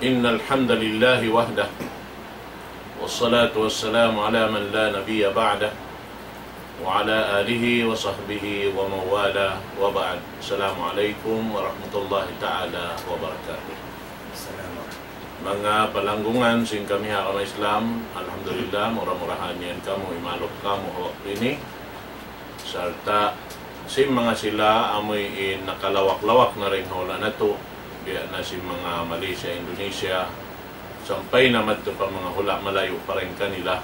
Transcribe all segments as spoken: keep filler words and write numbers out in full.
إن الحمد لله وحده، والصلاة والسلام على من لا نبي بعده، وعلى آله وصحبه ومن والاه، وبعد. السلام عليكم ورحمة الله تعالى وبركاته. Manga palanggungan sin kami ha agama Islam, alhamdulillah, mura-murahan yan kamu, imalup kamu ha waktu ini. Sarta' sin manga sila amuin nakalawak-lawak na dayn ha hula' natu', biya' na sin manga Malaysia, Indonesia, sampay na madtu pa manga hula' malayu' pa dayn kanila.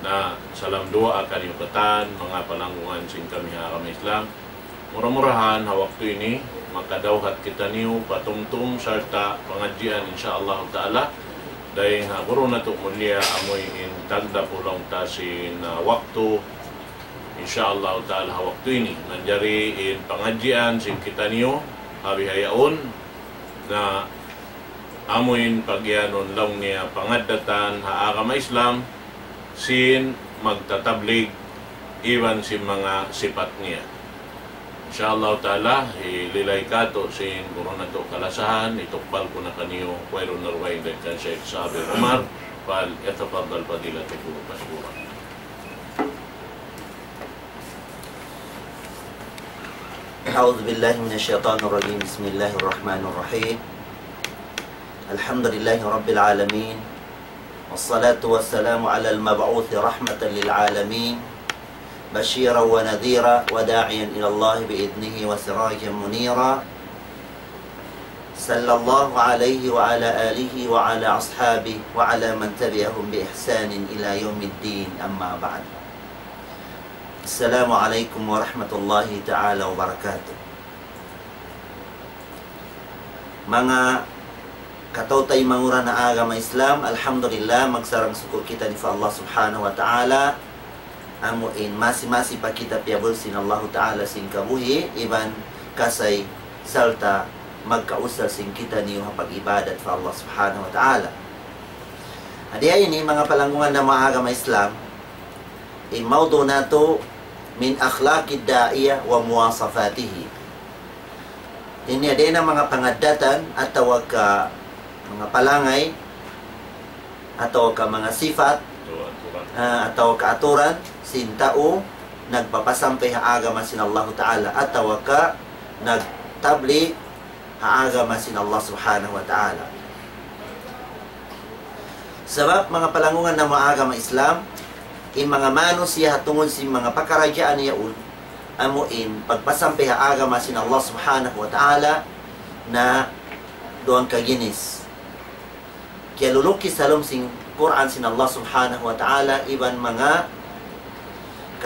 Na salam duwaa kaniyu katan, manga palanggungan sin kami ha agama Islam. Mura-murahan ha waktu ini, makadawhat kitaniyu pa tumtum sarta' pangadjian, insya Allah ta'ala. Dayn ha guru natu' mulia amuin tagdapu laung ta sin, ah, waktu, insya Allah ta'ala, ha waktu ini. Manjari in pangadjian sin kitaniyu, ha bihaun, na amuin pagiyanun laung niya pangaddatan ha agama Islam, sin magtatablig, iban sin manga sipat niya. Insya Allah ta'ala, hililay katu' sin guru natu' kalasahan, itukbal ku na kaniyu, wayruun na dugaing dayn kan Sheikh Sabir Umar, فليتفضل فضيلته مشكورا. أعوذ بالله من الشيطان الرجيم. بسم الله الرحمن الرحيم. الحمد لله رب العالمين. والصلاة والسلام على المبعوث رحمة للعالمين. بشيرا ونذيرا وداعيا إلى الله بإذنه وسراجا منيرا. صلى الله عليه وعلى آله وعلى أصحابه وعلى من تبعهم بإحسان إلى يوم الدين، أما بعد. السلام عليكم ورحمة الله تعالى وبركاته. Manga kataw-taymanghuran ha agama Islam, alhamdulillah, magsarang-suku' kita ini pa Allah Subhanahu wa Ta'ala, amuin masi-masi pa kita piyabul sin Allahu Ta'ala sin kabuhi', iban kasay, sarta' magkausal sin kitaniyu ha pag-ibadat pa Allah Subhanahu wa Ta'ala. Hati niya ini, manga palanggungan namu' ha agama Islam, in mawdu' natu', من أخلاق الداعية ومواصفاته. Ini dayn ha manga pangaddatan atawa ka manga palangay atawa ka manga sipat, ah, atawa ka aturan sin tau nagpapasampay ha agama sin Allahu Ta'ala atawa ka nagtablig ha agama sin Allah Subhanahu wa Ta'ala. Sabab manga palanggungan namu' ha agama Islam, in manga manusiya' ha tungud sin manga pakaradjaan yaun, amuin pagpasampay ha agama sin Allah Subhanahu wa Ta'ala, na duwang kaginis. Kiyalulukis ha lawm sin Qur'an sin Allah Subhanahu wa Ta'ala, iban manga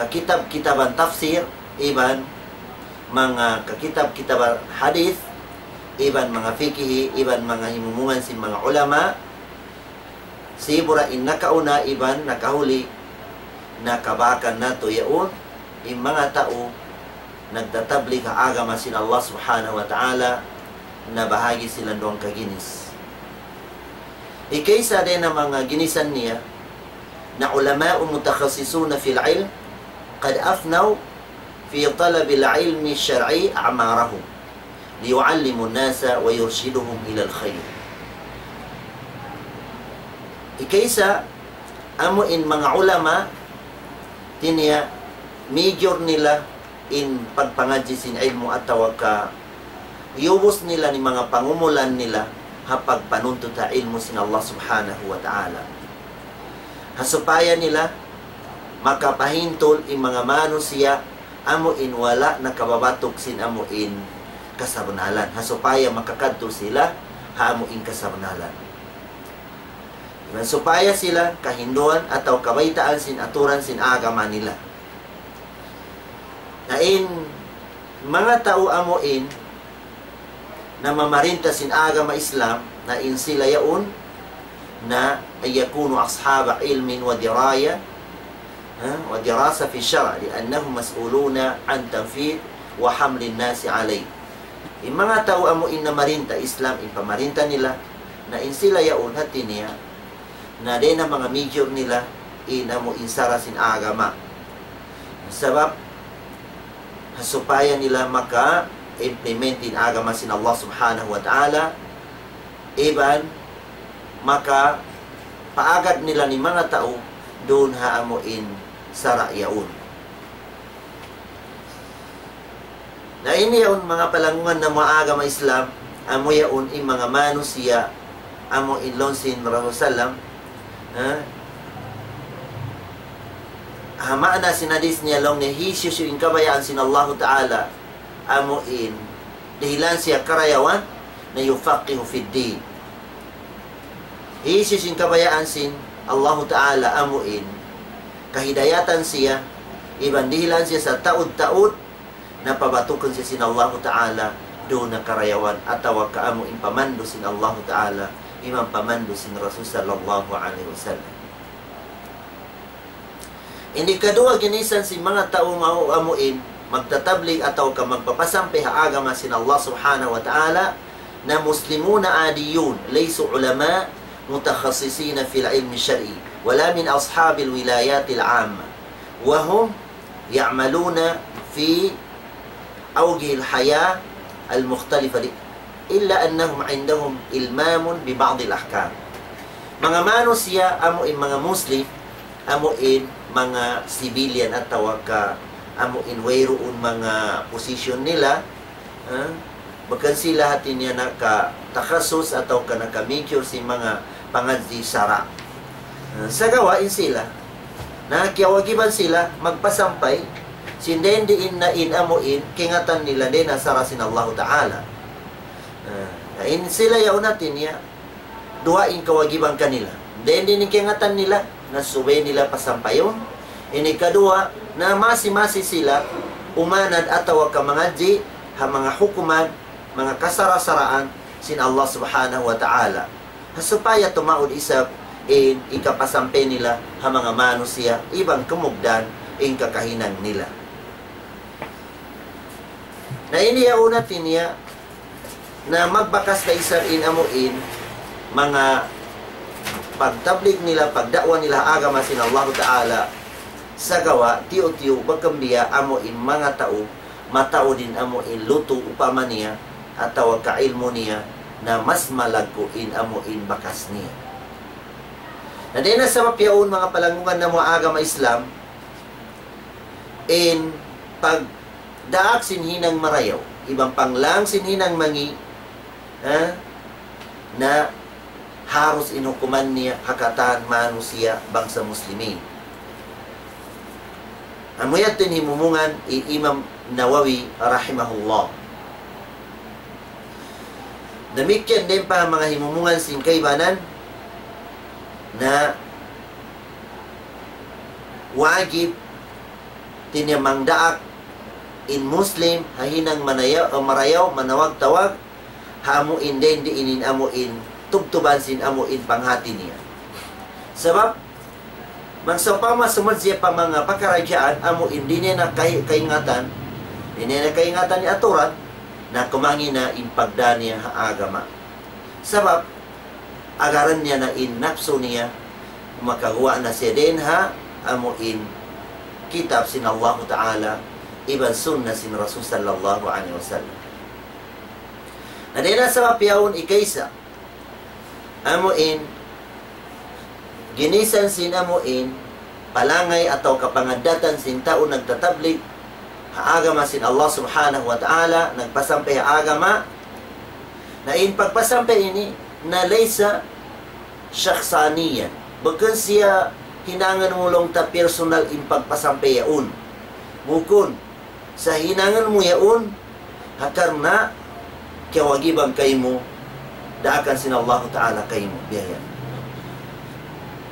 kakitab-kitaban tafsir, iban manga kakitab-kitaban hadith, iban manga fikihi, iban manga himumungan sin manga ulama, sibu' ra in nakauna iban nakahuli, na kabakan natu' yaun, in manga tau nagtatablig ha agama sin Allah Subhanahu wa Ta'ala, nabahagi' sila duwang kaginis. Hikaisa dayn ha manga ginisan niya, na علماء متخصصون في العلم قد أفنوا في طلب العلم الشرعي أعمارهم ليعلموا الناس ويرشدوهم إلى الخير. Hikaisa, amu in manga ulama, hati niya, mijur nila in pagpangadji' sin ilmu' atawa ka iyubus nila in manga pangumulan nila ha pagpanuntut ha ilmu' sin Allah Subhanahu wa Ta'ala. Ha supaya nila makapahintul in manga manusiya' amu in wala' nakababatuk sin amu in kasabnalan. Ha supaya makakadtu sila ha amu in kasabnalan. Iban supaya sila kahinduan atawa kabaytaan sin aturan sin agama nila. Na in manga tau amu in namamarinta sin agama Islam, na in sila yaun, na أن يكونوا أصحاب علم ودراية، ha, ودراسة في الشرع، لأنهم مسؤولون عن تنفيذ وحمل الناس عليه. In manga tau amu in namarinta Islam, in pamarinta nila, na in sila yaun hati niya, na dayn ha manga mijur nila in amu in sara sin agama. Sabab, ha supaya nila maka-implement in agama sin Allah Subhanahu wa Ta'ala, iban makapaagad nila in manga tau duun ha amu in sara' yaun. Na ini yaun manga palanggungan namu' ha agama Islam, amu yaun in manga manusiya', amu in laung sin Rasul sallam, ha? Ha maana sin hadith niya laung niya hisiyu-siyu in kabayaan sin Allahu Ta'ala, amu in dihilan siya karayawan, na يفقهه في الدين. Hisiyu-siyu in kabayaan sin Allahu Ta'ala amu in kahidayatan siya, iban dihilan siya sataud-taud, na pabatukun siya sin Allahu Ta'ala duun ha karayawan atawa ka amu in pamandu' sin Allahu Ta'ala, iban pamandu' sin Rasul sallallahu alayhi wasallam. In hikaduwa ginisan sin manga tau mau amu in magtatablig atawa ka magpapasampay ha agama sin Allah Subhanahu wa Ta'ala, na مسلمون عاديون ليسوا علماء متخصصين في العلم الشرعي ولا من أصحاب الولايات العامة وهم يعملون في أوجه الحياة المختلفة ل-، إلا أنهم عندهم إلمام ببعض الأحكام. Manga manusiya' amu in manga Muslim, amu in manga civilian atawa ka amu in wayruun manga position nila, ha? Bukun sila hati niya nakatakhasus atawa ka naka-major sin manga pangadji' sara'. Ha, sagawa' in sila, na kiyawajiban sila magpasampay sin dayn diin na in amu in kaingatan nila dayn ha sara' sin Allahu Ta'ala. Ha, na in sila yaun hati niya, duwa in kawajiban kanila. Dayn diin in kaingatan nila, na subay nila pasampayun. In hikaduwa, na masi-masi sila umanad atawa ka mangadji' ha manga hukuman, manga kasara'-saraan sin Allah Subhanahu wa Ta'ala. Ha supaya tumaud isab in hikapasampay nila ha manga manusiya', iban kumugdan in kakahinang nila. Na ini yaun hati niya, na magbakas da isab in amu in manga pagtablig nila, pagda'wa nila ha agama sin Allahu Ta'ala, sagawa' tiyu'-tiyu' bukun biya' amu in manga tau mataud in amu in lutu' upama niya atawa ka ilmu' niya, na mas malaggu' in amu in bakas niya. Na dayn ha sabab yaun manga palanggungan namu' ha agama Islam, in pagdaak sin hinang marayaw, iban panglang sin hinang mangi', ha? Na harus in hukuman niya ha katan manusiya' bangsa Muslimin. Amu yadtu in himumungan hi Imam Nawawi rahimahullah. Damikkiyan dayn pa manga himumungan sin kaibanan, na wajib hati niya mangdaak in Muslim ha hinang manayaw, marayaw, manawag-tawag, ha amu in dayn diin in amu in tubtuban sin amu in panghati niya. Sabab, bang sawpama sumud siya pa manga pakaradjaan, amu in di' niya na kai-, kaingatan, di' niya na kaingatan in aturan, na kumangi' na in pagdā niya ha agama. Sabab, agaran niya na in napsu niya, makaguwa' na siya dayn ha amu in kitab sin Allahu Ta'ala, iban sunnah sin Rasul sallallahu alayhi wasallam. Na dayn ha sabab yaun ikaisa, amu in ginisan sin amu in palangay atawa kapangaddatan sin tau nagtatablig ha agama sin Allah Subhanahu wa Ta'ala, nagpasampay ha agama, na in pagpasampay ini, na laysa shakhsaniyan. Bukun siya hinangun mu laung ta personal in pagpasampay yaun. Bukun. Sa' hinangun mu yaun, ha karna' kiyawajiban kaymu, daakan sin Allahu Ta'ala kaymu, biya' yan.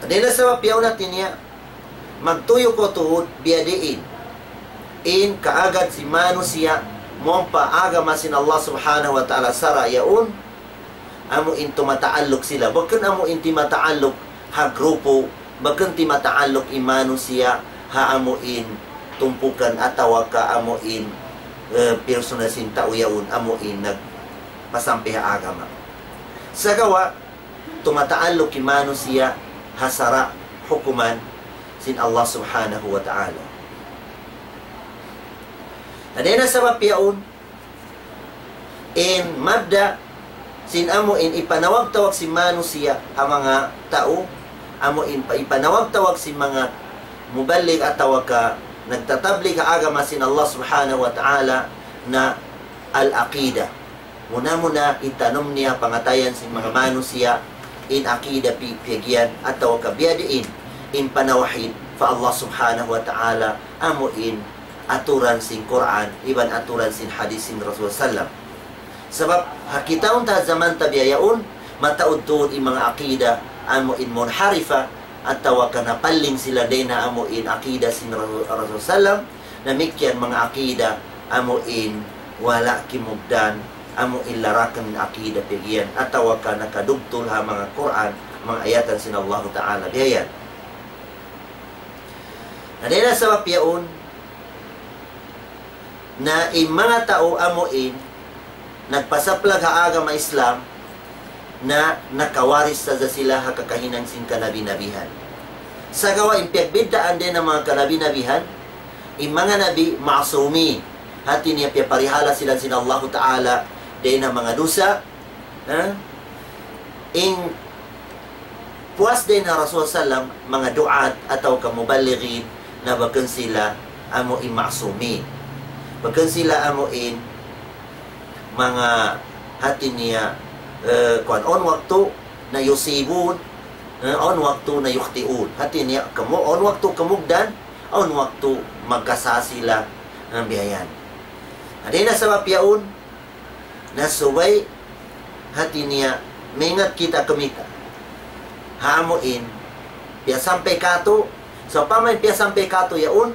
Dayn ha sabab yaun hati niya, magtuyu' kaw tuud, biya' diin in kaagad sin manusiya', mawn pa agama sin Allah Subhanahu wa Ta'ala sara' yaun, amu in tumataalluk sila. Bukun amu in timataalluk ha grupu, bukun timataalluk in manusiya' ha amu in tumpukan atawa ka amu in, eh, personal sin tau yaun amu in nagpasampay ha agama. Sagawa', tumataalluk in manusiya' ha sara' hukuman sin Allah Subhanahu wa Ta'ala. Na dayn ha sabab yaun, in mabda' sin amu in ipanawag-tawag sin manusiya' ha manga tau, amu in pa-, ipanawag-tawag sin manga muballig atawa ka nagtatablig ha agama sin Allah Subhanahu wa Ta'ala na al-aqidah. Muna-muna itanum niya pangatayan sin manga manusiya' in aqidah pi-, piyag-iyan atawa ka biya' diin in panawhid pa Allah Subhanahu wa Ta'ala, amu in aturan sin Qur'an, iban aturan sin hadith sin Rasul sallam. Sabab, ha kitaun ta ha jaman ta biya' yaun, mataud-tuud in manga aqidah, amu in munharifa, atawa ka napaling sila dayn ha amu in aqidah sin Rasul, Rasul sallam, damikkiyan manga aqidah, amu in wala' kimugdan, amu in larakan aqidah piyag-iyan, atawa ka nakadugtul ha manga Qur'an, manga ayatan sin Allahu Ta'ala, biya' yan. Na dayn ha sabab yaun, na in manga tau amu in nagpasaplag ha agama Islam, na nakawaris sadja sila ha kakahinang sin kanabi-nabihan. Sagawa' in piyagbiddaan dayn ha manga kanabi-nabihan, in manga nabi ma'sumin, hati niya piyaparihala sila sin Allahu Ta'ala dayn ha manga dusa, ha? In puas dayn ha Rasul sallam, manga du'at atawa ka muballighin, na bukun sila amu in ma'sumin. Bukun sila amu in manga hati niya, eh, kuwan, awn waktu na yusibun, eh, awn waktu na yukhti'un. Hati niya, kamu-, awn waktu kamugdan, awn waktu magkasā sila, eh, biya' yan. Na dayn ha sabab yaun, na subay hati niya maingat kita kumita' ha amu in piyasampay kātu', sawpama in piyasampay kātu' yaun,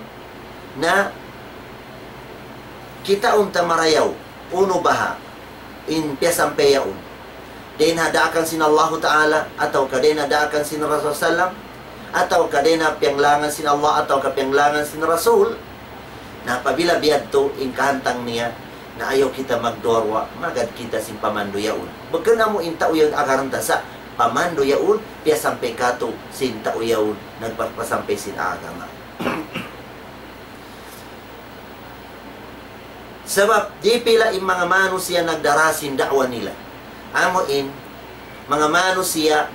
na kitaun ta marayaw, unu baha' in piyasampay yaun. Dayn ha daakan sin Allahu Ta'ala, atawa ka dayn ha daakan sin Rasul sallam, atawa ka dayn ha piyanglangan sin Allah, atawa ka piyanglangan sin Rasul. Na apabila biya' yadtu in kahantang niya, na ayaw kita magduwa-ruwa, magad kita sin pamandu' yaun. Bukun amu in tau yaun agaran ta sa' pamandu' yaun, piyasampay kātu' sin tau yaun, nagpapasampay sin agama. Sabab, di' pila in manga manusiya' nagdara sin da'wa nila. Amu in, manga manusiya',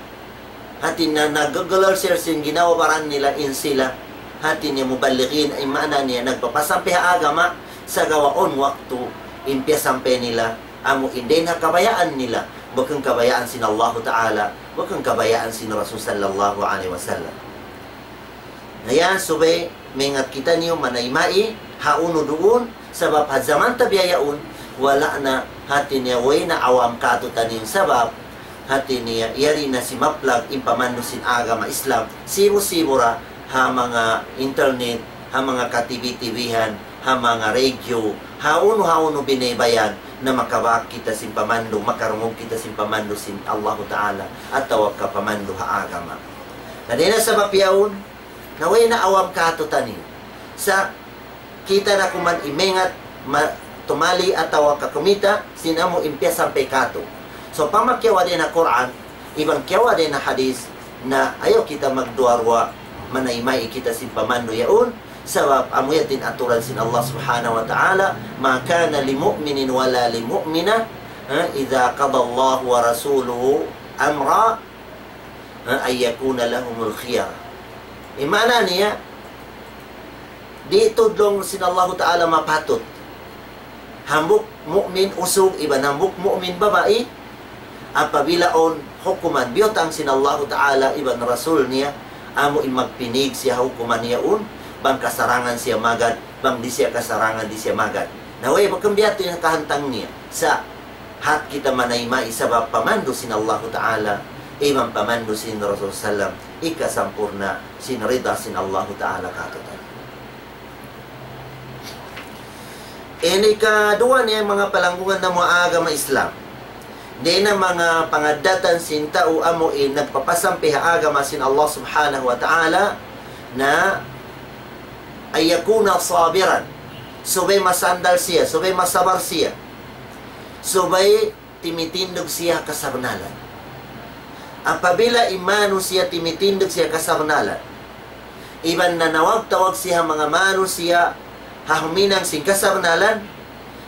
hati niya naggagalal sila sin ginhawa-baran nila in sila, hati niya muballighin, in maana niya nagpapasampay ha agama, sagawa' awn waktu, in piyasampay nila, amu in dayn ha kabayaan nila, bukun kabayaan sin Allahu Ta'ala, bukun kabayaan sin Rasul sallallahu alayhi wasallam. Na yan, subay maingat kitaniyu manayma' ha unu duun, sabab ha jaman ta biya' yaun, wala' na hati niya way na awam kātu'niyu sabab hati niya yari na simaplag in pamandu' sin agama Islam, sibu'-sibu' ra ha manga internet, ha manga ka-T V-T V-han, ha manga radio, ha unu-ha unu biyaybayan, na makabak kita sin pamandu', makarungug kita sin pamandu' sin Allahu Ta'ala, atawa ka pamandu' ha agama. Na dayn ha sabab yaun, na way na awam kātu'niyu. Sa' kita na kuman imingat ma-, tumali atawa ka kumita' sin amu in piyasampay kātu'. Sawpama kiyawa' dayn ha Qur'an, iban kiyawa' dayn ha hadith, na ayaw kita magduwa-ruwa, manayma' kita sin pamandu' yaun, sabab amu yadtu in aturan sin Allah Subhanahu wa Ta'ala, ما كان لمؤمن ولا لمؤمنة، ha, إذا قضى الله ورسوله أمرا، ha, أن يكون لهم الخيرة. In maana niya, di' tudlung sin Allahu Ta'ala mapatut hambuuk mu'min usug iban hambuuk mu'min babai, apabila awn hukuman biyutang sin Allahu Ta'ala iban Rasul niya, amu in magpinig siya ha hukuman yaun, bang kasarangan siya magad, bang di' siya kasarangan di' siya magad. Na way, bukun biya' yadtu in kahantang niya. Sa' hat kita manayma' sabab pamandu' sin Allahu Ta'ala, iban pamandu' sin Rasul sallam, hikasampurna' sin rida sin Allahu Ta'ala kātu'niyu. Ini kaduwa niya manga palanggungan namu' agama Islam. Dayn ha manga pangaddatan sin tau amu in nagpapasampay ha agama sin Allah Subhanahu wa Ta'ala na أن يكون صابرا. Subay masandal siya, subay masabar siya. Subay timitindug siya kasabnalan. Apabila in manusiya' timitindug siya kasabnalan, iban nanawag-tawag siya manga manusiya' ha huminang sin kasabnalan,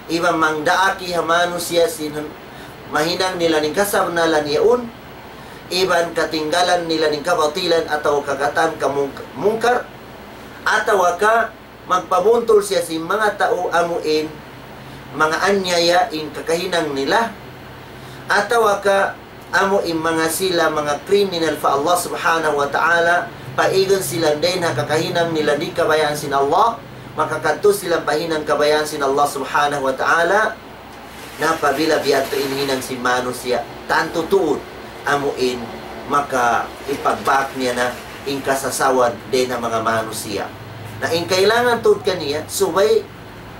iban mangdaak ha manusiya' sin, mahinang nila in kasabnalan yaun, iban katinggalan nila in kabatilan atawa kagatan ka mung-, mungkar, atawa ka magpabuntul siya sin manga tau amu in manga anyaya in kakahinang nila, atawa ka amu in manga sila manga kriminal pa Allah Subhanahu wa Ta'ala, paigun sila dayn ha kakahinang nila di' kabayaan sin Allah, makakadtu sila pa hinang kabayaan sin Allah Subhanahu wa Ta'ala. Na apabila biya' ha yan in hinang sin manusiya', tantu tuud amu in makapagbak niya na in kasasawan dayn ha manga manusiya'. Na in kailangan tuud kaniya, subay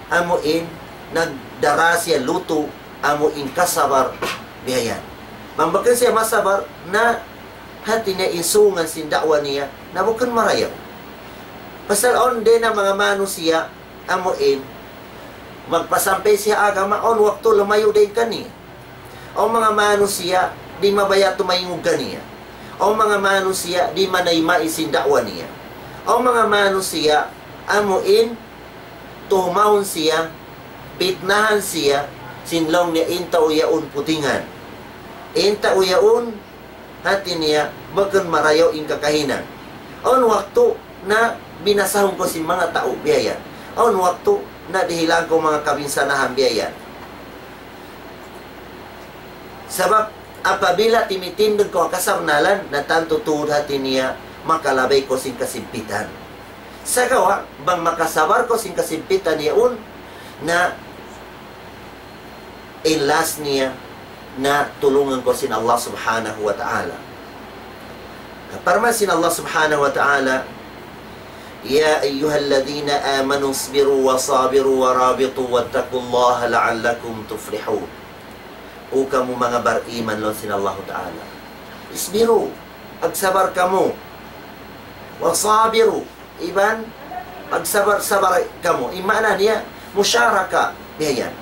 amu in nagdara siya lutu' amu in kasabar biya' yan. Bang bukun siya masabar, na hati niya in sungan sin da'wa niya, na bukun marayaw. Pasal awn dayn ha manga manusiya', amu in magpasampay siya agama, awn waktu lumayu' dayn kaniya. Awn manga manusiya' di' mabaya' tumayngug kaniya. Awn manga manusiya' di' manayma' sin da'wa niya. Awn manga manusiya' amu in tuhmaun siya, pitnahan siya, sin laung niya in tau yaun putingan. In tau yaun hati niya bukun marayaw in kakahinang. Awn waktu na binasahun kaw sin manga tau biya' yan. Awn waktu na dihilan kaw manga kabinsanahan biya' yan. Sabab apabila timitindug kaw ha kasabnalan, na tantu tuud hati niya makalabay kaw sin kasigpitan. Sagawa', bang makasabar kaw sin kasigpitan yaun, na in last niya na tulungan kaw sin Allah Subhanahu wa Ta'ala. Parman sin Allah Subhanahu wa Ta'ala, يا أيها الذين آمنوا اصبروا وصابروا ورابطوا واتقوا الله لعلكم تفلحون. O kamu manga bariman, laung sin Allahu Ta'ala, اصبروا, magsabar kamu. وصابروا, iban magsabar-sabar kamu. In maana niya, musharaka biya' yan.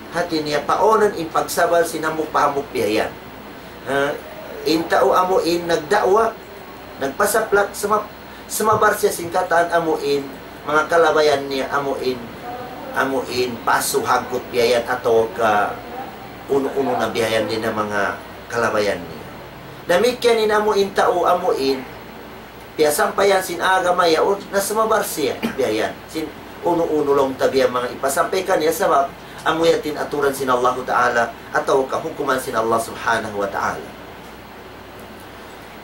Hati niya, paunun in pagsabar sin hambuuk pa hambuuk biya' yan. Ah, in tau amu in nagda'wa, nagpasaplak, sumab-, sumabar siya sin katan amu in manga kalabayan niya, amu in, amu in pasu' haggut biya' yan atawa ka unu-unu na biya' yan dayn ha manga kalabayan niya. Damikkiyan in amu in tau amu in piyasampayan sin agama yaun, na sumabar siya biya' yan sin unu-unu laung ta biya' manga ipasampay kaniya, sabab amu yan in aturan sin Allahu Ta'ala atawa ka hukuman sin Allah Subhanahu wa Ta'ala.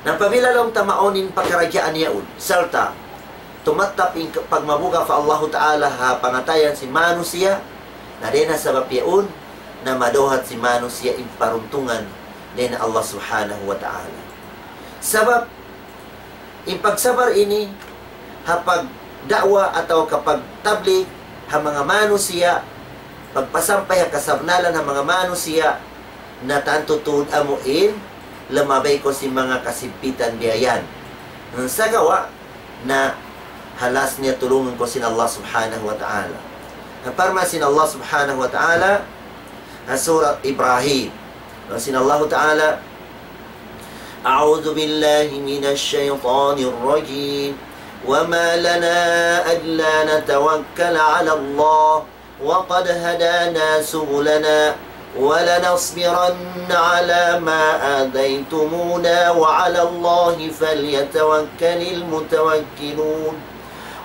Na apabila laung ta mawn in pakaradjaan yaun, sarta' tumattap in ka-, pagmabuga' pa Allahu Ta'ala ha pangatayan sin manusiya', na dayn ha sabab yaun na madawhat sin manusiya' in paruntungan dayn ha Allah Subhanahu wa Ta'ala. Sabab in pagsabar ini ha pagda'wa atawa ka pagtablig ha manga manusiya', pagpasampay ha kasabnalan ha manga manusiya', na tantu tuud amu in lumabay kaw sin manga kasigpitan biya' yan. Sagawa' na ha last niya tulungan kaw sin Allah Subhanahu wa Ta'ala. Parman sin Allah Subhanahu wa Ta'ala ha Surat Ibrahim. Laung sin Allahu Ta'ala, أعوذ بالله من الشيطان الرجيم. وما لنا ألا نتوكل على الله وقد هدانا سبلنا ولنصبرن على ما آذيتمونا وعلى الله فليتوكل المتوكلون.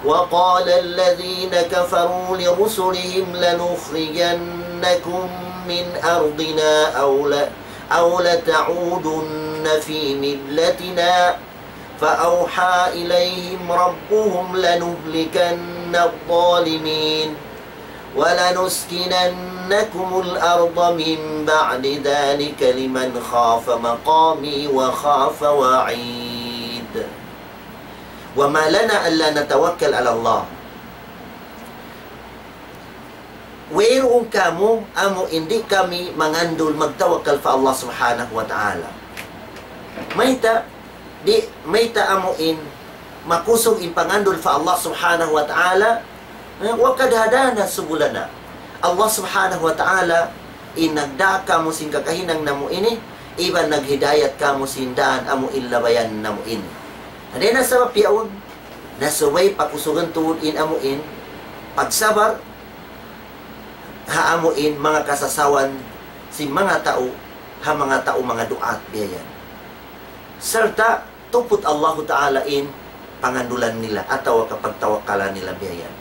وقال الذين كفروا لرسلهم لنخرجنكم من أرضنا أو ل-، أو لتعودن في ملتنا فأوحى إليهم ربهم لنهلكن الظالمين ولنسكننكم الأرض من بعد ذلك لمن خاف مقامي وخاف وعيد. وما لنا ألا نتوكل على الله. Wayruun kamu amu in di' kami mangandul magtawakkal pa Allah Subhanahu wa Ta'ala. Mayta', di', mayta' amu in makusug in pangandul pa Allah Subhanahu wa Ta'ala, eh, وقد هدانا سبلنا. Allah Subhanahu wa Ta'ala in nagdā kāmu' sin kakahinang namu' ini, iban naghidayat kāmu' sin dān amu in labayan namu' ini. Dayn ha sabab yaun, na subay pakusugun tuud in amu in pagsabar ha amu in manga kasasawan sin manga tau ha manga tau manga du'at biya' yan. Sarta' tuput Allahu Ta'ala in pangandulan nila atawa kapagtawakkalan nila biya' yan.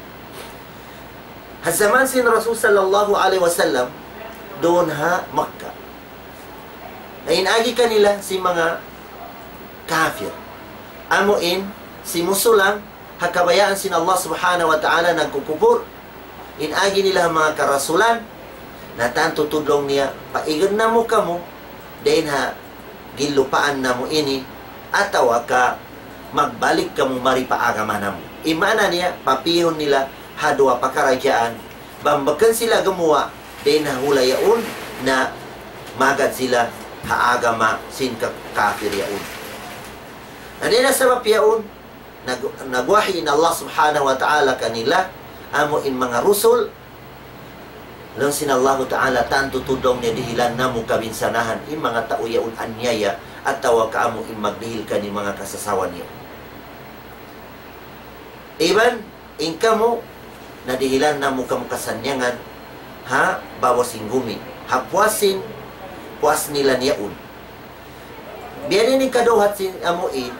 Ha jaman sin Rasul sallallahu alayhi wasallam, duun ha Makkah. Na in agi kanila sin manga kafir. Amu in, simusulang, ha kabayaan sin Allah Subhanahu wa Ta'ala nagkukupur. In agi nila ha manga karasulan, na tantu tudlung niya, paigad namu' kamu, dayn ha ginlupaan namu' ini, atawa ka magbalik kamu mari pa agama namu'. In maana niya, papihun nila ha duwa pakaradjaan, bang bukun sila gumuwa', dayn ha hula' yaun, na magad sila ha agama sin ka-, kafir yaun. Na dayn ha sabab yaun, nag-, nagwahi in Allah Subhanahu wa Ta'ala kanila, amu in manga rusul, laung sin Allahu Ta'ala, tantu tudlung niya dihilan namu' kabinsanahan, in manga tau yaun anyaya, atawa ka amu in magdihil kaniyu manga kasasawan niya. Iban, in kamu, nadihilan namu' kamu kasannyangan, ha, babaw sin gumi, ha puas sin, puas nila niyaun. Biya' diin in kaduhat sin amu in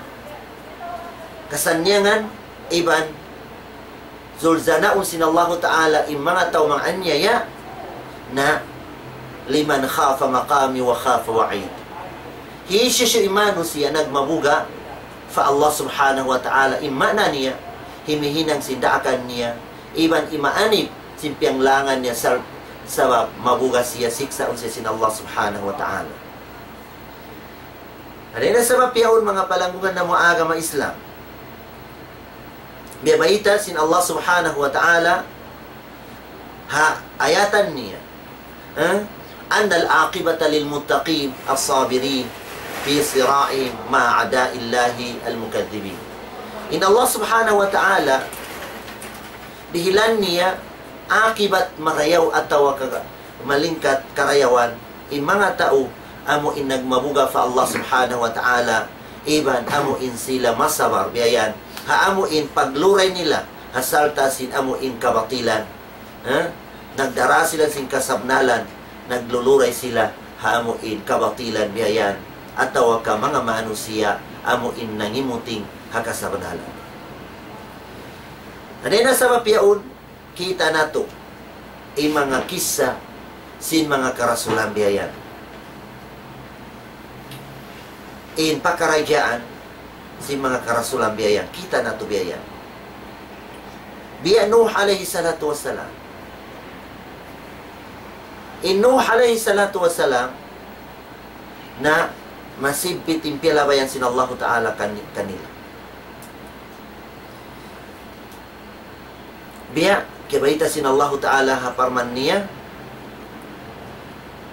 kasannyangan iban zulzanaun sin Allahu Ta'ala in manga tau manganyaya na لمن خاف مقامي وخاف وعيد. Hisiyu-siyu in manusiya' nagmabuga' pa Allah Subhanahu wa Ta'ala, in maana niya, himihinang sin daakan niya, iban imaanib sin piyanglangan niya sal-, sabab mabuga' siya siksaun siya sin Allah Subhanahu wa Ta'ala. Dayn ha sabab yaun manga palanggungan namu' agama Islam. Biya' bayta' sin Allah Subhanahu wa Ta'ala ha ayatan niya. Ha? أن العاقبة للمتقين الصابرين في صراعهم مع أعداء الله المكذبين. In Allah Subhanahu wa Ta'ala, dihilan niya akibat marayaw atawa ka-, malingkat karayawan, in manga tau amu in nagmabuga' pa Allah Subhanahu wa Ta'ala, iban amu in sila masabar biya' yan ha amu in pagluray nila ha sarta' sin amu in kabatilan. Ha? Nagdara sila sin kasabnalan, nagluluray sila ha amu in kabatilan biya' yan, atawa ka manga manusiya' amu in nangimuting ha kasabnalan. Dayn ha sabab yaun, kita' natu' in manga kissa sin manga karasulan biya' yan. In pakaradjaan sin manga karasulan biya' yan, kita' natu' biya' yan. Biya' Nuh alayhi salatu wassalam. In Nuh alayhi salatu wassalam na masibbit in piyalabayan sin Allahu Ta'ala kan-, kanila. Biya' kiyabayta' sin Allahu Ta'ala ha parman niya,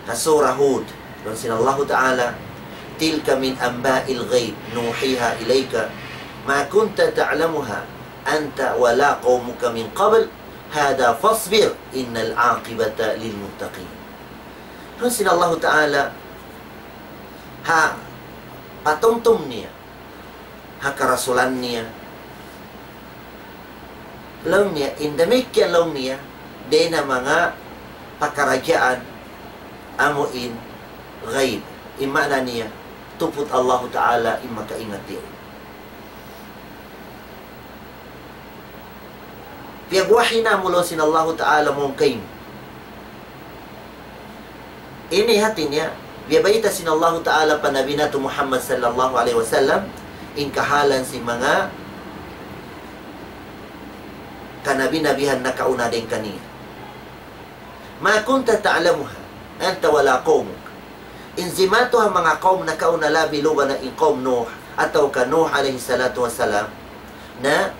ha Surah Hud, laung sin Allahu Ta'ala, تلك من أنباء الغيب نوحيها إليك ما كنت تعلمها أنت ولا قومك من قبل هذا فاصبر إن العاقبة للمتقين. Laung sin Allahu Ta'ala, ha patumtum niya, ha karasulan niya. Laung niya, in damikkiyan laung niya, dayn ha manga pakaradjaan amu in ghaib. In maana niya, tuput Allahu Ta'ala in makaingat yaun. Piyagwahi namu' laung sin Allahu Ta'ala mawn kaymu. Ini hati niya, biya' bayta' sin Allahu Ta'ala pa Nabi natu' Muhammad sallallahu alayhi wasallam, in kahalan sin manga kanabi-nabihan nakauna dayn kaniya. ما كنت تعلمها أنت ولا قومك. In jimatu ha manga kawm nakauna labi luba na in kawm Nuh, atawa ka Nuh alayhi salatu wassalam, na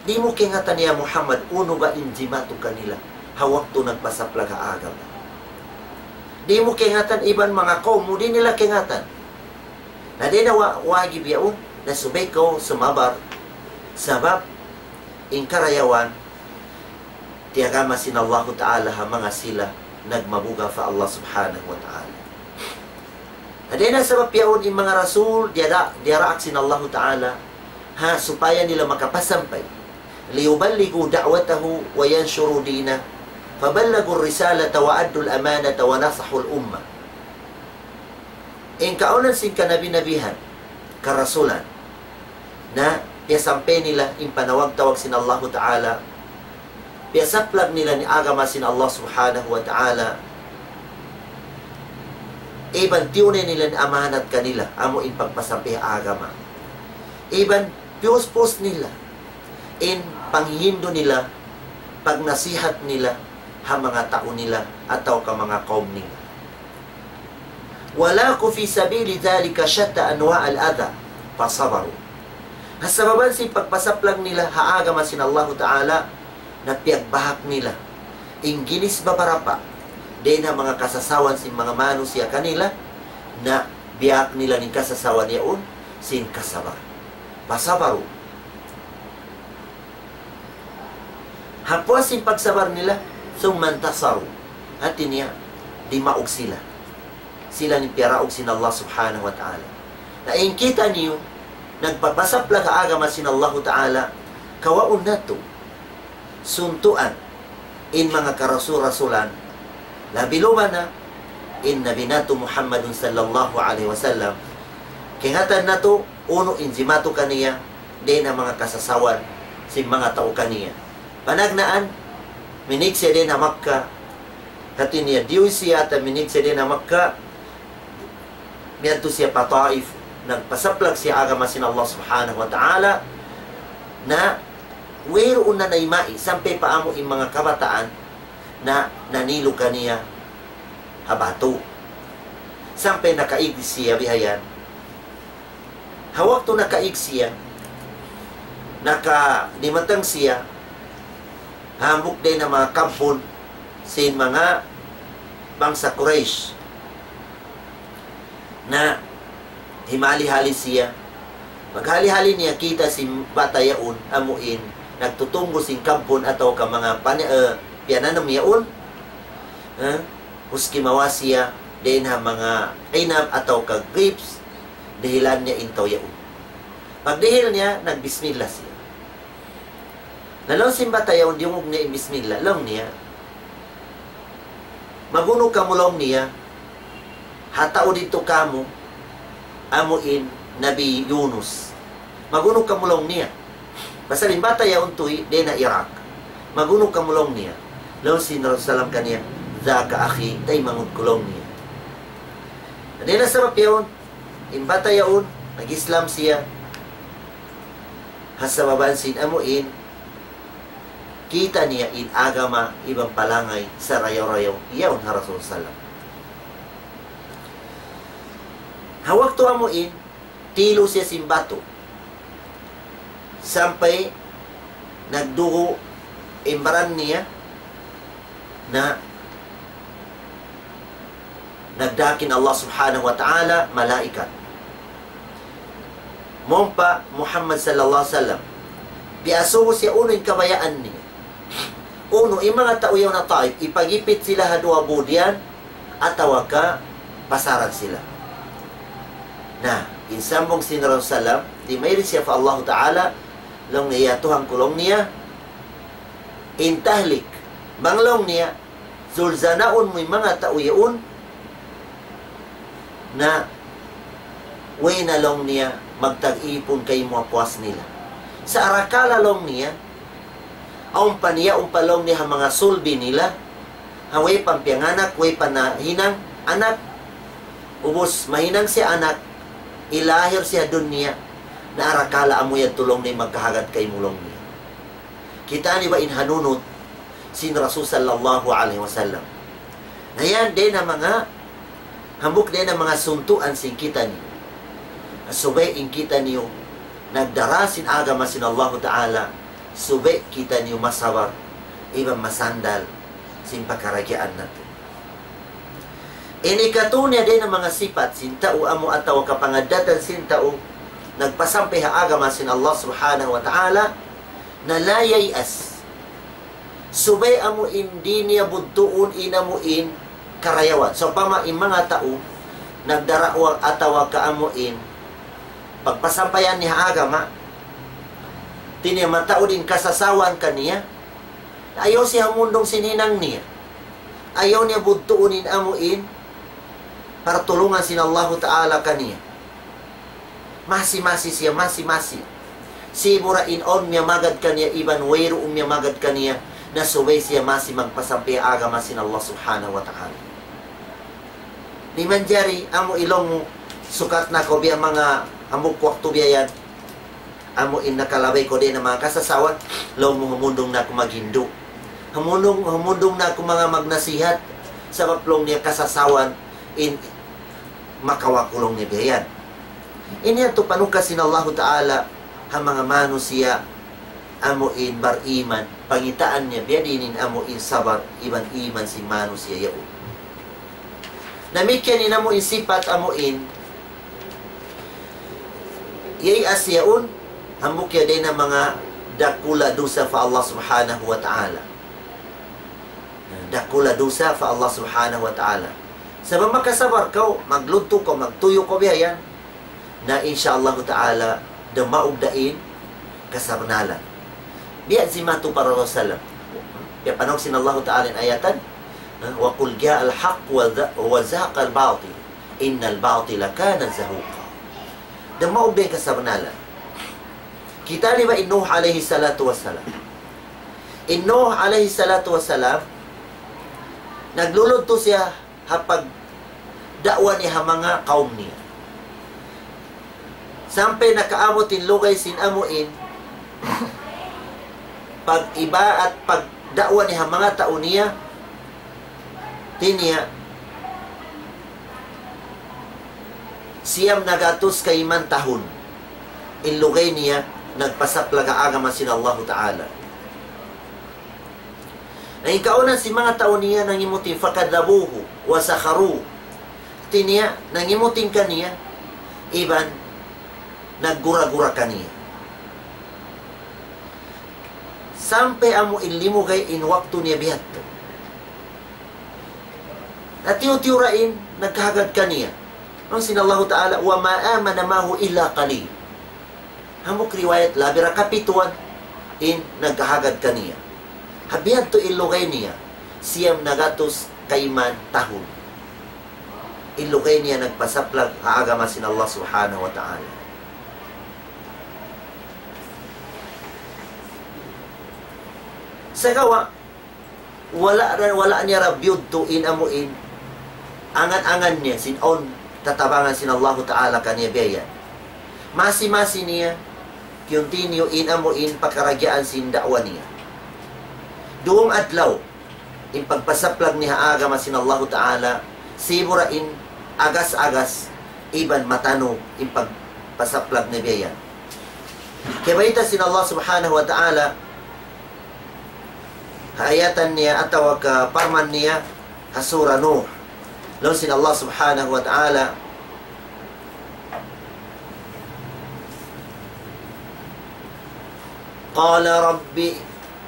di' mu kaingatan ya Muhammad, unu ba in jimatu kanila ha waktu nagpasaplag ha agama. Di' mu kaingatan iban manga kawm mu, di' nila kaingatan. Na di' na wa-, wajib yaun, na subay kaw sumabar, sabab in karayawan, tiyagama sin Allahu Ta'ala ha manga sila nagmabuga' pa Allah Subhanahu wa Ta'ala. Dayn ha sabab yaun in manga rasul, diyara-, diyaraak sin Allahu Ta'ala, ha, supaya nila makapasampay. ليبلغوا دعوته وينشروا دينه فبلغوا الرسالة وأدوا الأمانة ونصحوا الأمة. In kaunan sin kanabi-nabihan, karasulan, na piyasampay nila in panawag-tawag sin Allahu Ta'ala, piyasaplag nila in agama sin Allah Subhanahu wa Ta'ala, iban tiyunay nila in amanat kanila, amu in pagpasampay agama. Iban piyuspus nila in panghindu' nila, pagnasihat nila, ha manga tau nila, atawa ka manga kawm nila. ولاقوا في سبيل ذلك شتى أنواع الأذى فصبروا. Ha sababan sin pagpasaplag nila ha agama sin Allahu Ta'ala, na piyagbahak nila in ginis babarapa dayn ha manga kasasawan sin manga manusiya' kanila, na biyahak nila in kasasawan yaun sin kasabar. فصبروا. Ha puas sin pagsabar nila, ثم انتصروا. Hati niya, dimaug sila. Sila in piyaraug sin Allah Subhanahu wa Ta'ala. Na in kitaniyu, nagpapasaplag ha agama sin Allahu Ta'ala, kawaun natu', suntuan in manga karasul-rasulan, labi-labi na in Nabi natu' Muhammadun sallallahu alayhi wasallam. Kaingatan natu', unu in jimatu kaniya, dayn ha manga kasasawan sin manga tau kaniya. Panagnaan, minig siya dayn ha Makkah, hati niya diyuy siya ta minig siya dayn ha Makkah, miyadtu siya pa Taif, nagpasaplag siya agama sin Allah Subhanahu wa Ta'ala, na wayruun na naymai, sampay pa amu in manga kabataan, na nanilu kaniya ha batu. Sampay nakaig siya bihayan. Ha waktu nakaig siya, naka-, dimatang siya, hambuuk dayn ha manga kampun sin manga bangsa Quraysh. Na himali-hali siya. Paghali-hali niya, kita' sin bata' yaun, amu in nagtutunggu' sin kampun atawa ka manga pan-, eh, piyananam yaun. Eh, maski mawa siya dayn ha manga inab atawa ka grapes, dihilan niya in tau yaun. Pagdihil niya, nagbismillah siya. Na laung sin bata' yaun, diyungug niya in bismillah, laung niya, "Magunu kamu," laung niya, "ha tau didtu kamu, amu in Nabi Yunus. Magunu kamu," laung niya. Pasal in bata' yaun tuy, dayn ha Iraq. "Magunu kamu," laung niya. Laung sin Rasul sallam kaniya, "ذاك أخي, taymanghud ku," laung niya. Dayn ha sabab yaun, in bata' yaun, nag-Islam siya. Ha sababan sin amu in, kita' niya in agama iban palangay sarayaw-rayaw yaun ha Rasul sallam. Ha waktu amu in, tilu siya sin batu. Sampay nagdugu' in baran niya, na nagdaak in Allah Subhanahu wa Ta'ala malaikat. Mawn pa Muhammad sallallahu alayhi wasallam. Piyasubu siya unu in kabayaan niya. Unu, in manga tau yaun ha Taif, ipagipit sila ha duwa budyan, atawa ka pasaran sila. Na, in sambung sin Rasul sallam, dimairi siya pa Allah Ta'ala, laung niya, "Ya Tuhan ku," laung niya, "in tahlik, bang," laung niya, "zulzanaun mu in manga tau yaun, na way na," laung niya, "magtag-ipun kaymu ha puas nila. Sa' arakala," laung niya, "awn pa niya, awn pa," laung niya, "ha manga sulbi nila, ha way pa piyanganak, way pa nahinang anak, ubus mahinang siya anak, ilahir siya ha dunya, na arakala amu yadtu," laung niya, "magkahagad kaymu," laung niya. Kitaa niyu ba in hanunut sin Rasul sallallahu alayhi wasallam? Na yan, dayn ha manga, hambuuk dayn ha manga suntuan sin kitaniyu. Subay in kitaniyu nagdara sin agama sin Allahu Ta'ala, subay kitaniyu masabar, iban masandal sin pagkarajaan natu'. Ini katu' niya dayn ha manga sipat sin tau amu atawa kapangaddatan sin tau nagpasampay ha agama sin Allah Subhanahu wa Ta'ala, na لا ييأس. Subay amu in di' niya budtuun in amu in karayawan. Sawpama in manga tau nagdarawa atawa ka amu in pagpasampayan niya ha agama, di' niya mataud in kasasawan kaniya, ayaw siya humundung sin hinang niya. Ayaw niya budtuun in amu in Partulungan sin Allahu Ta'ala kaniya. Masi-masi siya, masi-masi. Sibu' da in awn miyamagad kaniya, iban wayruun miyamagad kaniya, na subay siya masi magpasampay agama sin Allah Subhanahu wa Ta'ala. Di' manjari, amu in laung mu, sukat na kaw biya' manga hambuuk waktu biya' yan. Amu in nakalabay kaw dayn ha manga kasasawan, laung mu humundung na aku maghindu'. Humundung, humundung na aku manga magnasihat, sabab laung niya kasasawan in makawa' ku laung niya biya' yan. Ini yadtu panukas sin Allahu Ta'ala ha manga manusiya' amu in bariman, pangitaan niya biya' diin in amu in sabar iban iman sin manusiya' yaun. Damikkiyan in amu in sipat amu in iyayas yaun, hambuuk ya dayn ha manga dakula' dusa pa Allah Subhanahu wa Ta'ala. Dakula' dusa pa Allah Subhanahu wa Ta'ala. Sabab makasabar kaw, magludtu kaw, magtuyu' kaw biya' yan. Na insya Allah Ta'ala, dumaug da in kasabnalan. Biya' sin matu pa Rasul sallam. Piyapanaug sin Allah Ta'ala in ayatan, ha? وقل جاء الحق وز-، وزهق الباطل إن الباطل كان زهوقا. Dumaug da in kasabnalan. Kita' niyu ba in Nuh alayhi salatu wassalam. In Nuh alayhi salatu wassalam, nagluludtu siya ha pagda'wa niya ha manga kawm niya. Sampay nakaabut in lugay sin amu in pag-ibadat, pagda'wa niya ha manga tau niya, hati niya, siyam na gatus kayman tahun in lugay niya nagpasaplag ha agama sin Allahu Ta'ala. Na in kaawnan sin manga tau niya nangimut in فكذبوه وسخروا. Hati niya, nangimut in kaniya, iban naggura-gura kaniya. Sampay amu in limugay in waktu niya bihadtu. Na tiyu'-tiyu' ra in nagkahagad kaniya. Laung sin Allahu Ta'ala, وما آمن معه إلا قليل. Hambuuk riwayat, labi ra kapituan in nagkahagad kaniya. Ha bihadtu in lugay niya, siyam na gatus kayman tahun. In lugay niya nagpasaplag ha agama sin Allah Subhanahu wa Ta'ala. Sagawa', wala', wala' niya ra biyudtu in amu in angan-angan niya sin awn tatabangan sin Allahu Ta'ala kaniya biya' yan. Masi-masi niya continue in amu in pagkaragyaan sin da'wa niya. Duwang adlaw in pagpasaplag niya ha agama sin Allahu Ta'ala, sibu' ra in agas-agas iban matanug in pagpasaplag niya biya' yan. Kiyabayta' sin Allah Subhanahu wa Ta'ala ha ayatan niya atawa ka parman niya ha Surah Nuh. Laung sin Allah Subhanahu wa Ta'ala, قال رب،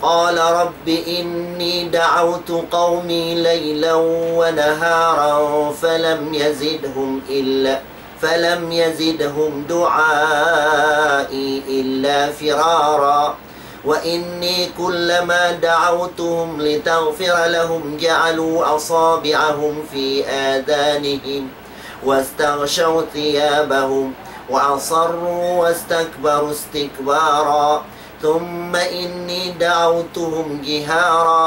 قال رب إني دعوت قومي ليلا ونهارا فلم يزدهم إلا، فلم يزدهم دعائي إلا فرارا. وإني كلما دعوتهم لتغفر لهم جعلوا أصابعهم في آذانهم واستغشوا ثيابهم وأصروا واستكبروا استكبارا. ثم إني دعوتهم جهارا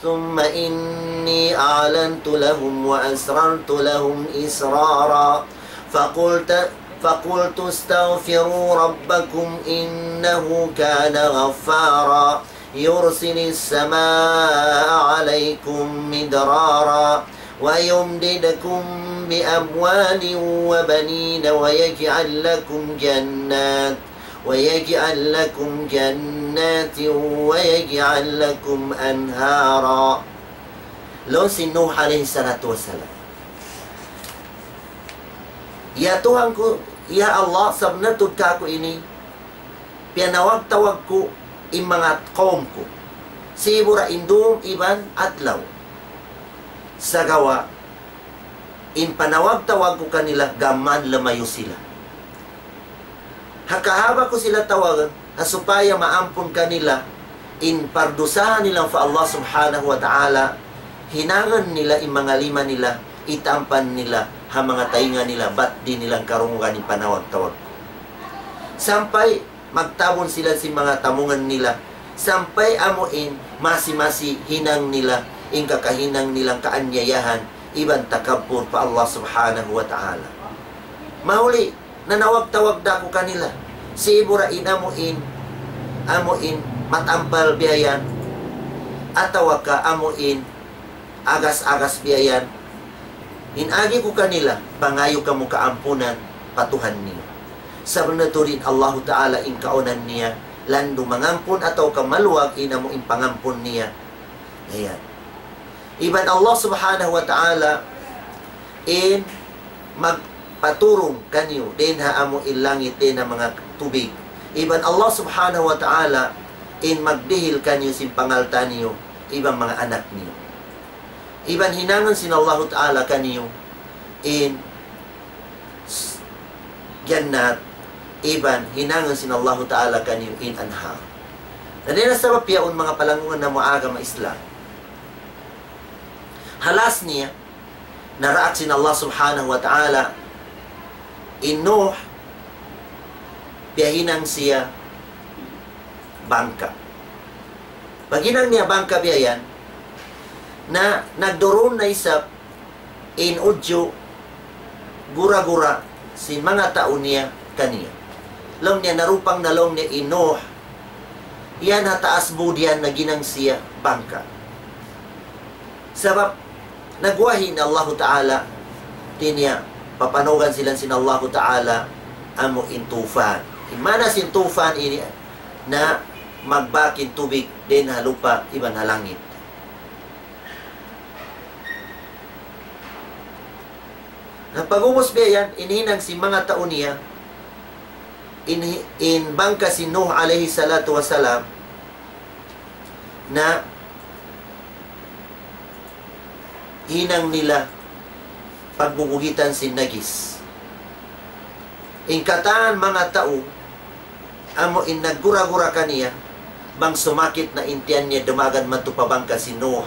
ثم إني أعلنت لهم وأسررت لهم إسرارا. فقلت، فقلت استغفروا ربكم إنه كان غفارا يرسل السماء عليكم مدرارا ويمددكم بأموال وبنين ويجعل لكم جنات ويجعل لكم جنات ويجعل لكم أنهارا. Laung sin Nuh alayhi salatu wassalam, "Ya Tuhan ku, ya Allah, sabunnal tuud kāku' ini, piyanawag-tawag ku in manga kawm ku, sibu' ra in dum iban adlaw. Sagawa' in panawag-tawag ku kanila, gām mayan lumayu' sila. Ha kahaba' ku sila tawagun, ha supaya maampun kanila in pardusaha nila pa Allah Subhanahu wa Ta'ala, hinangun nila in manga lima nila, itampan nila ha manga taynga nila, bat di' nila karungugan in panawag-tawag ku. Sampay magtabun sila sin manga tamungan nila, sampay amu in masi-masi hinang nila, in kakahinang nilang kaanyayahan, iban takabbur pa Allah Subhanahu wa Ta'ala. Mahuli, nanawag-tawag da aku kanila. Sibu' ra in amu in, amu in matampal biya' yan, atawa ka amu in agas-agas biya' yan. In agi ku kanila, pangayu' kamu kaampunan pa Tuhan niyu. Sabab na tuud in Allahu Ta'ala in kaunan niya, landu' mangampun atawa ka maluag in amu in pangampun niya. Ayan. Iban Allah Subhanahu wa Ta'ala in magpaturung kaniyu dayn ha amu in langit, dayn ha manga tubig. Iban Allah Subhanahu wa Ta'ala in magdihil kaniyu sin pangalta' niyu, iban manga anak niyu. Iban hinangun sin Allahu Ta'ala kaniyu in s-, jannat, iban hinangun sin Allahu Ta'ala kaniyu in anhar. Na dayn ha sabab yaun, manga palanggungan namu' agama Islam, ha last niya, naraak sin Allah Subhanahu wa Ta'ala in Nuh, piyahinang siya bangka. Paghinang niya bangka biya' yan, na nagdurun na isab in udju gura-gura sin manga tau niya kaniya. Laung niya, narupang na laung niya in Nuh yan ha taas bud yan, naghinang siya bangka. Sabab nagwahi in Allahu Ta'ala, hati niya, papanugan sila sin Allahu Ta'ala amu in tufan. In maana sin tufan ini na magbak in tubig dayn ha lupa' iban ha langit. Na pag'ubus biya' yan, in hinang sin manga tau niya, in, in bangka sin Nuh alayhi salatu wassalam, na hinang nila pagbubugitan sin najis. In katan manga tau, amu in naggura-gura kaniya, bang sumakit na in tiyan niya, dumagan madtu pa bangka sin Nuh,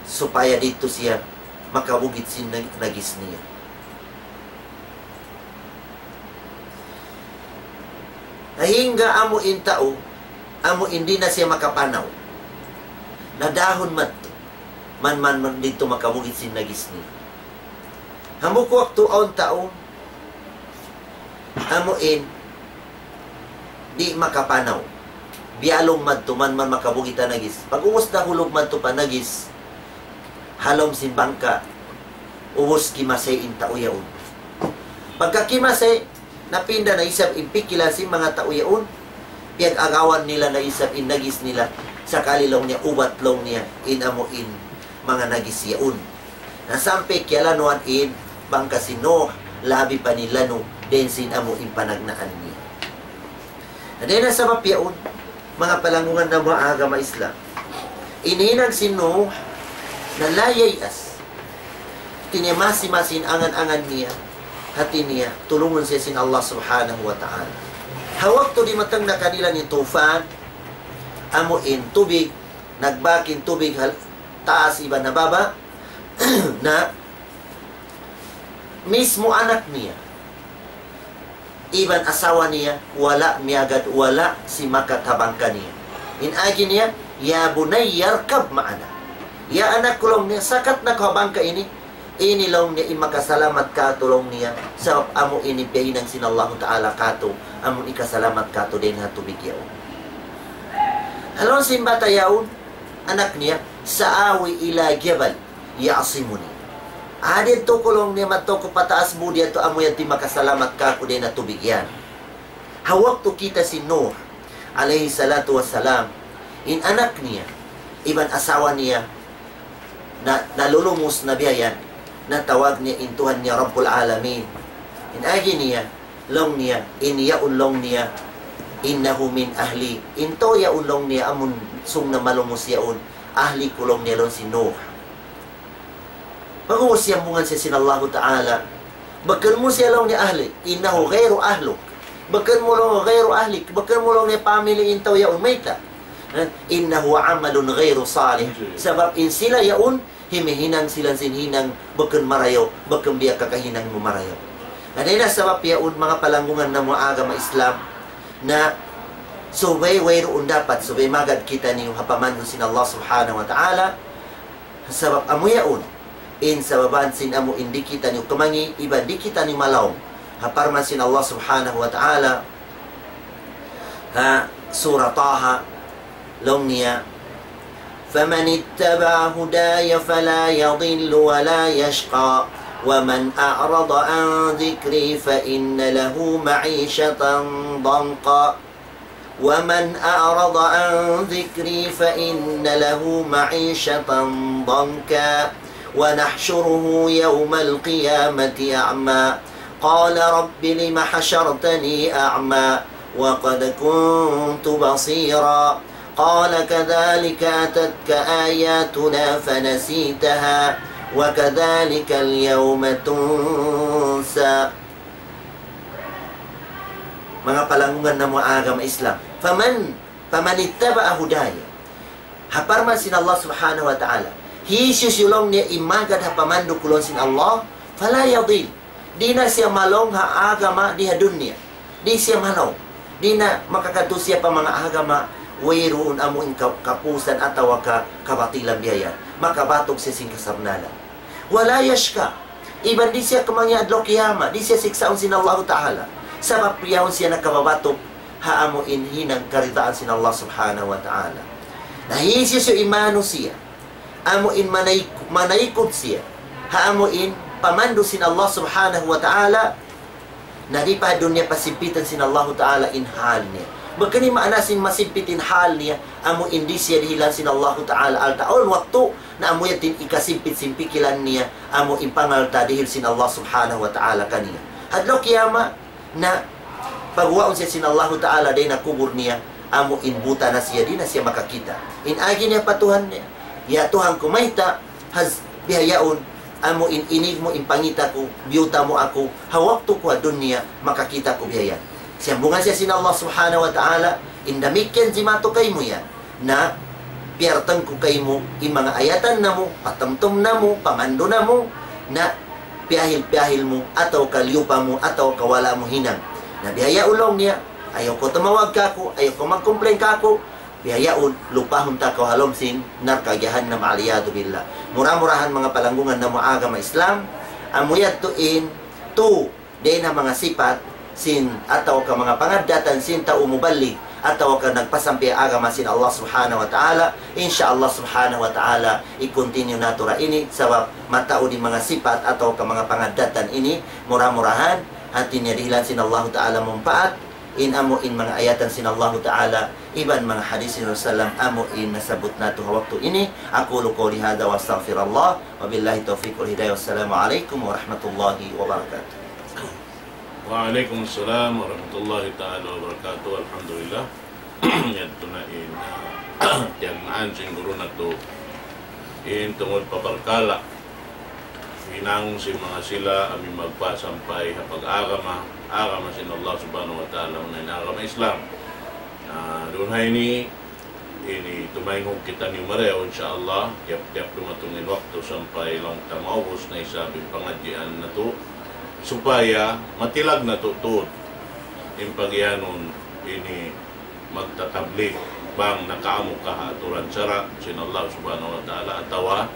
supaya didtu siya makabugit sin naj-, najis niya. Hangga amu in tau, amu in di' na siya makapanaw. Nadahun madtu. Man, man, man didtu makabugit sin najis niya. Hambuuk waktu awn tau, amu in di' makapanaw. Biyalung madtu, man, man makabugit ha najis. Pag'ubus nahulug madtu pa najis, ha lawm sin bangka, ubus kimasay in tau yaun. Pagka kimasay, napinda na isab in pikilan sin manga tau yaun, piyag-agawan nila na isab in najis nila, sakali laung niya ubat laung niya in amu in manga najis yaun. Na sampay kiyalanuan in bangka sin Nuh, labi pa nilanu dayn sin amu in panagnaan niya. Na dayn ha sabab yaun, manga palanggungan namu' agama Islam, in hinang sin Nuh na la yay'as. Hati niya masi-masi in angan-angan niya, hati niya tulungun siya sin Allah Subhanahu wa Ta'ala. Ha waktu dimatung na kanila in tufan, amu in tubig, nagbak in tubig ha taas iban ha baba', na mismu anak niya iban asawa niya, wala' miyagad, wala' simakat ha bangka niya. In agi niya, "Ya bunayya irkab ma'ana." "Ya anak ku," laung niya, "sakat na kaw ha bangka ini. Ini," laung niya, "in makasalamat kātu'," laung niya, "sabab amu ini piyahinang sin Allahu Ta'ala kātu', amu in hikasalamat kātu' dayn ha tubig yaun." Laung sin bata' yaun, anak niya, "Sa'awi ila jabal ya'simuni." "Ah, didtu ku," laung niya, "madtu aku pa taas bud yadtu, amu yadtu in makasalamat kāku' dayn ha tubig yan." Ha waktu kita' sin Nuh alayhi salatu wassalam, in anak niya, iban asawa niya, na, nalulumus na biya' yan, natawag niya in Tuhan niya Rabbul Alamin. In agi niya, laung niya, in yaun laung niya, "Innahu min ahli." In tau yaun laung niya, amun sung namalumus yaun, ahli ku laung niya, laung sin Nuh. Pag'ubus siyambungan siya sin Allahu Ta'ala. "Bukun mu siya," laung niya, "ahli. Innahu ghayru ahluk. Bukun mu," laung niya, "ghayru ahlik. Bukun mu," laung niya, "family in tau yaun." Mayta'? إنه عمل غير صالح. Sabab in sila yaun, himihinang sila sin hinang bukun marayaw, bukun biya' kakahinang mu marayaw. Na dayn ha sabab yaun, manga palanggungan namu' agama Islam, na subay wayruun dapat, subay magad kitaniyu ha pamandu' sin Allah Subhanahu wa Ta'ala, sabab amu yaun in sababan sin amu in di' kitaniyu kamangi', iban di' kitaniyu malaung. Ha parman sin Allah Subhanahu wa Ta'ala, ha Surah Taha, laung niya, فمن اتبع هداي فلا يضل ولا يشقى ومن أعرض عن ذكري فإن له معيشة ضنكا ومن أعرض عن ذكري فإن له معيشة ضنكا ونحشره يوم القيامة أعمى قال رب لم حشرتني أعمى وقد كنت بصيرا قال كذلك أتتك آياتنا فنسيتها وكذلك اليوم تنسى. Manga palanggungan namu' agama Islam. فمن، فمن اتبع هداي. Ha parman sin Allah Subhanahu wa Ta'ala. Hisiyu-siyu laung niya in magad ha pamandu' ku laung sin Allah, فلا يضل. Di' na siya malaung ha agama di ha dunya. Di' siya malaung. Di' na makakadtu siya pa manga agama, wayruun amu in ka-, kapusan atawa ka-, kabatilan biya' yan. Makabatuk siya sin kasabnalan. ولا يشقى. Iban di' siya kamangi' adlaw kiyamat, di' siya siksaun sin Allahu Ta'ala. Sabab yaun siya nakababatuk ha amu in hinang karidaan sin Allah Subhanahu wa Ta'ala. Na hisiyu-siyu in manusiya', amu in manayk-, manaykud siya ha amu in pamandu' sin Allah Subhanahu wa Ta'ala, na di' pa dunya pasigpitan sin Allahu Ta'ala in hal niya. Bukun in maana sin masigpit in hal niya, amu in di' siya dihilan sin Allahu Ta'ala alta' awn waktu, na amu yadtu in ikasigpit sin pikilan niya, amu in pangalta' dihil sin Allah Subhanahu wa Ta'ala kaniya. Adlaw kiyamat, na pagguwaun siya sin Allahu Ta'ala dayn ha kubul niya, amu in buta na siya, di' na siya makakita'. In agi niya pa Tuhan niya, "Ya Tuhan ku, mayta' has bihaun, amu in inig mu in pangita' ku, biyuta mu aku, ha waktu ku ha dunya, makakita' ku bihaun." Siyambungan siya sin Allah Subhanahu wa Ta'ala, "In damikkiyan jimatu kaymu yan, na piyartang ku kaymu in manga ayatan namu', patumtum namu', pamandu' namu', na piyahil-piyahil mu, atawa ka liyupa mu, atawa ka wala' mu hinang." Na bihaun laung niya, "Ayaw kaw tumawag kaku', ayaw kaw mag-complain kaku', bihaun lupahun ta kaw ha lawm sin narka' jahannam, والعياذ بالله." Mura-murahan manga palanggungan namu' agama Islam, amu yadtu in tu dayn ha manga sipat sin atawa ka manga pangaddatan sin tau muballig atawa ka nagpasampay agama sin Allah Subhanahu wa Ta'ala. Insya Allah Subhanahu wa Ta'ala, i-continue natu' ra ini, sabab mataud in manga sipat atawa ka manga pangaddatan ini, mura-murahan, hati niya dihilan sin Allahu Ta'ala manpaat, in amu in manga ayatan sin Allahu Ta'ala, iban manga hadis sin Rasul sallam, amu in nasabbut natu' ha waktu ini. أقول قولي هذا وأستغفر الله، وبالله التوفيق والهداية، والسلام عليكم ورحمة الله وبركاته. وعليكم السلام ورحمة الله تعالى وبركاته. Alhamdulillah. Yadtu na in, ah, tiyagnaan sin guru natu'. In tungud pa parkala' hinang sin manga sila amu in magpasampay ha pag-agama, agama sin Allah Subhanahu wa Ta'ala, amu na in agama Islam. Ah, duun ha ini, ini tumaynghug kitaniyu marayaw, insya Allah, tiyap-tiyap dumatung in waktu sampay laung ta maubus na isab in pangadjian natu', supaya matilag natu' tuud in pagiyanun ini magtatablig, bang nakaamu ka ha aturan sara' sin Allah Subhanahu wa Ta'ala, atawa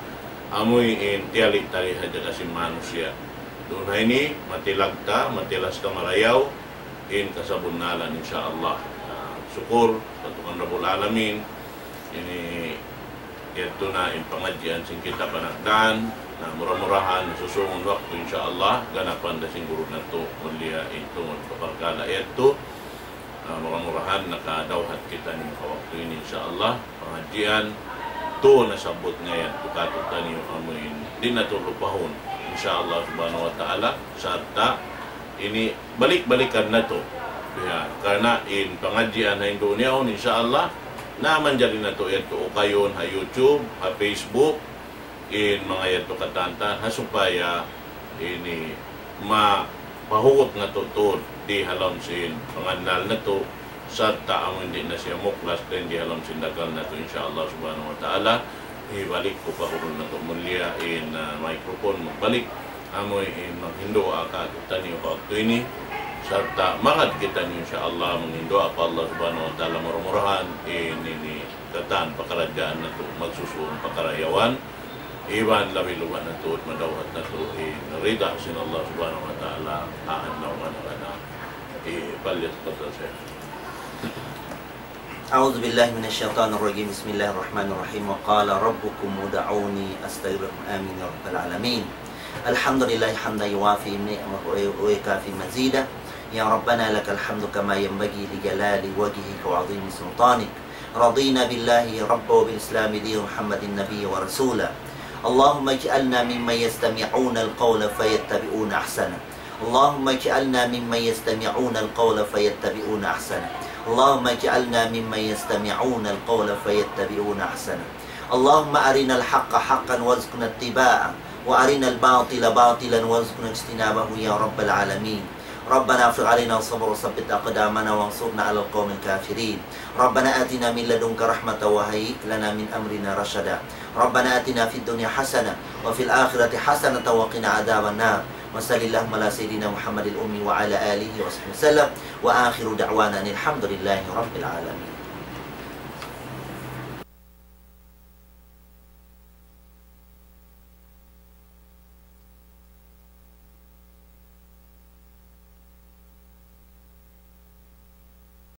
amuin tiyali-tali hadja ka sin manusiya'. Duun ha ini, matilag ta, matilas ta marayaw, in kasabunnalan, insya Allah. Na, sukur pa Tuhan Rabbul Alamin, ini yadtu na in pangadjian sin kita panagnaan, na mura-murahan, susungun waktu, insya Allah, ganapan da sin guru natu', mulia in tungud pa parkala' yadtu. Na, mura-murahan, nakadawhat kitaniyu pa waktu ini, insya Allah, pangadjian, tu nasabbut ngayad tu katu'taniyu amuin, di' natu' lupahun, insya Allah Subhanahu wa Ta'ala, sarta' ini balik-balikan natu'. Ya, karna' in pangadjian ha Indonesia, insya Allah, na manjari natu' yadtu ukayun ha YouTube, ha Facebook, in manga yadtu katantan, ha supaya ini mapahugut natu' tuud di ha lawm sin pangannal natu', sarta' amu in di' na siya muklas dayn di ha lawm sin dagal natu', insya Allah subhanahu wa ta'ala. Hibalik ku pa guru natu' mulia in, ah, microphone magbalik. Amu in maghinduwaa kātu'niyu ha waktu ini. Sarta' magad kitaniyu, insya Allah, maghinduwaa pa Allah subhanahu wa ta'ala, mura-murahan in ini katan pakaradjaan natu', magsusun pakarayawan. Iban labi-labi natu', madawhat natu' in rida sin Allah subhanahu wa ta'ala, haan na umana kana. Eh, palyat pa ta siya. أعوذ بالله من الشيطان الرجيم. بسم الله الرحمن الرحيم. وقال ربكم ادعوني أستجب لكم. آمين يا رب العالمين. الحمد لله حمدا يوافي نعمه ويكافئ مزيده. يا ربنا لك الحمد كما ينبغي لجلال وجهك وعظيم سلطانك. رضينا بالله ربا وبالإسلام دينا ومحمدا نبيا ورسولا. اللهم اجعلنا ممن يستمعون القول فيتبعون أحسنه. اللهم اجعلنا ممن يستمعون القول فيتبعون أحسنه. اللهم اجعلنا ممن يستمعون القول فيتبعون أحسنه. اللهم أرنا الحق حقا وارزقنا اتباعه، وأرنا الباطل باطلا وارزقنا اجتنابه يا رب العالمين. ربنا أفرغ علينا صبرا وثبت أقدامنا وانصرنا على القوم الكافرين. ربنا آتنا من لدنك رحمة وهيئ لنا من أمرنا رشدا. ربنا آتنا في الدنيا حسنة وفي الآخرة حسنة وقنا عذاب النار. وصل اللهم على سيدنا محمد الأمي وعلى آله وصحبه وسلم. وآخر دعوانا أن الحمد لله رب العالمين.